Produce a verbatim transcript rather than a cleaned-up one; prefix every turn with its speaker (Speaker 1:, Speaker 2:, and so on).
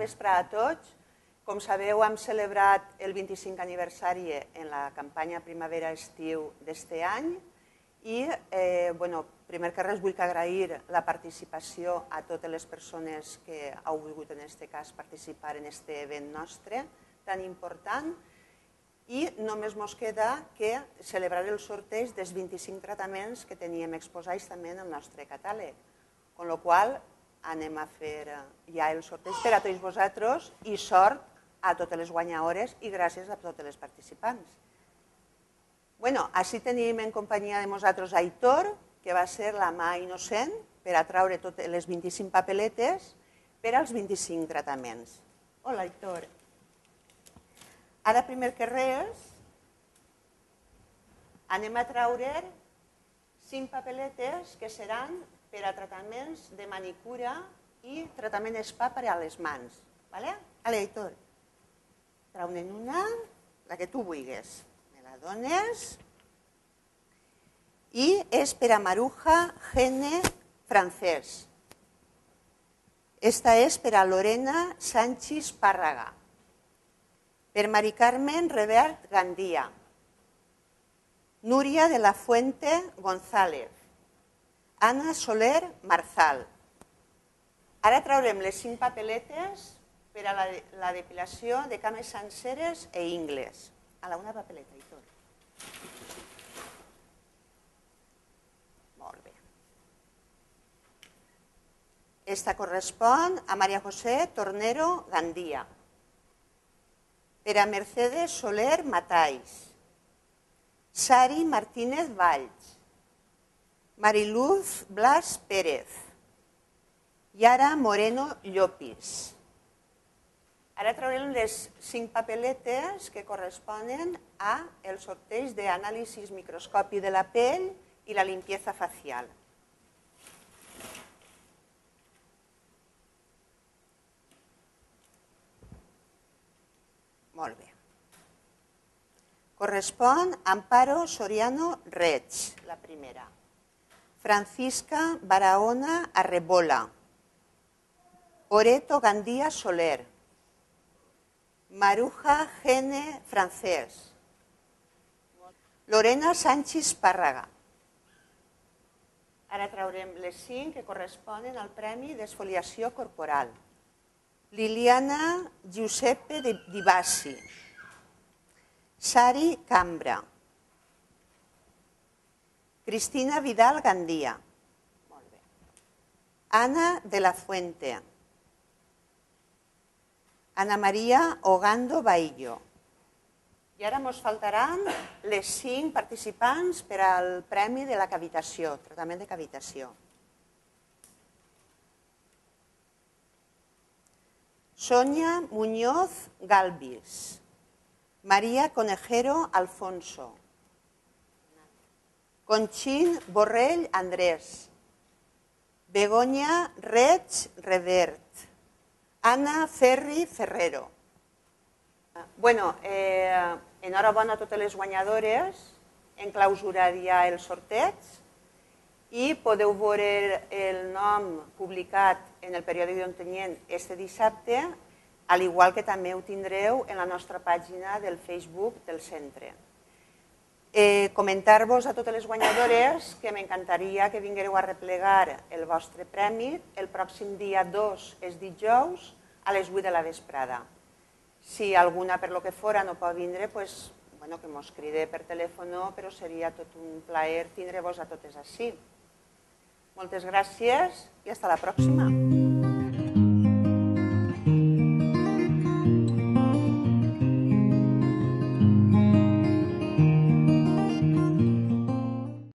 Speaker 1: vesprada a tots. Com sabeu, hem celebrat el vint-i-cinquè aniversari en la campanya Primavera-Estiu d'este any i, primer que res, vull agrair la participació a totes les persones que heu volgut, en aquest cas, participar en aquest event nostre tan important. I només ens queda que celebrar el sorteig dels vint-i-cinc tractaments que teníem exposats també en el nostre catàleg. Amb la qual cosa anem a fer ja el sorteig per a tots vosaltres i sort a totes les guanyadores i gràcies a totes les participants. Bé, així tenim en companyia de nosaltres Aitor, que va ser la mà innocent per a traure totes les vint-i-cinc papeletes per als vint-i-cinc tractaments. Hola, Aitor. Ara, primer que res, anem a traure cinc papeletes que seran per a tractaments de manicura i tractament spa per a les mans. Vale, Aitor? Traure'n una, la que tu vulguis. Me la dones. I és per a Maruja Gene Francés. Esta és per a Lorena Sánchez Párraga. Per Mari Carmen Revert Gandia. Núria de la Fuente González. Ana Soler Marzal. Ara traurem les cinc papeletes per a la depilació de cames senceres i ingles. A la una papeleta, Aitor. Molt bé. Esta correspon a María José Tornero Gandia. Per a Mercedes Soler Matais. Sari Martínez Valls. Mariluz Blas Pérez. Yara Moreno Llopis. Ara traurem les cinc papeletes que corresponen al sorteig d'anàlisi microscopi de la pell i la limpieza facial. Molt bé. Correspon a Amparo Soriano Reig, la primera. Francisca Barahona Arrebola. Oreto Gandía Soler. Maruja Gene Francés. Lorena Sánchez Párraga. Ara traurem les cinc que corresponen al Premi d'Esfoliació Corporal. Liliana Giuseppe Di Bassi. Sari Cambra. Cristina Vidal Gandia. Ana de la Fuente. Ana María Ogando Baillo. I ara ens faltaran les cinc participants per al Premi de la Cavitació, tractament de cavitació. Sonia Muñoz Galvis. María Conejero Alfonso. Conchín Borrell Andrés. Begoña Reig Revert. Ana Ferri Ferrero. Bueno, enhorabona a totes les guanyadores. Enclausuraria el sorteig i podeu veure el nom publicat en el periòdic d'Ontinyent este dissabte, al igual que també ho tindreu en la nostra pàgina del Facebook del centre. Comentar-vos a totes les guanyadores que m'encantaria que vinguéreu a replegar el vostre premi el pròxim dia dos, és dijous, a les vuit de la vesprada. Si alguna per lo que fora no pot vindre, que mos cride per telèfon, però seria tot un plaer tindre-vos a totes així. Moltes gràcies i fins la pròxima.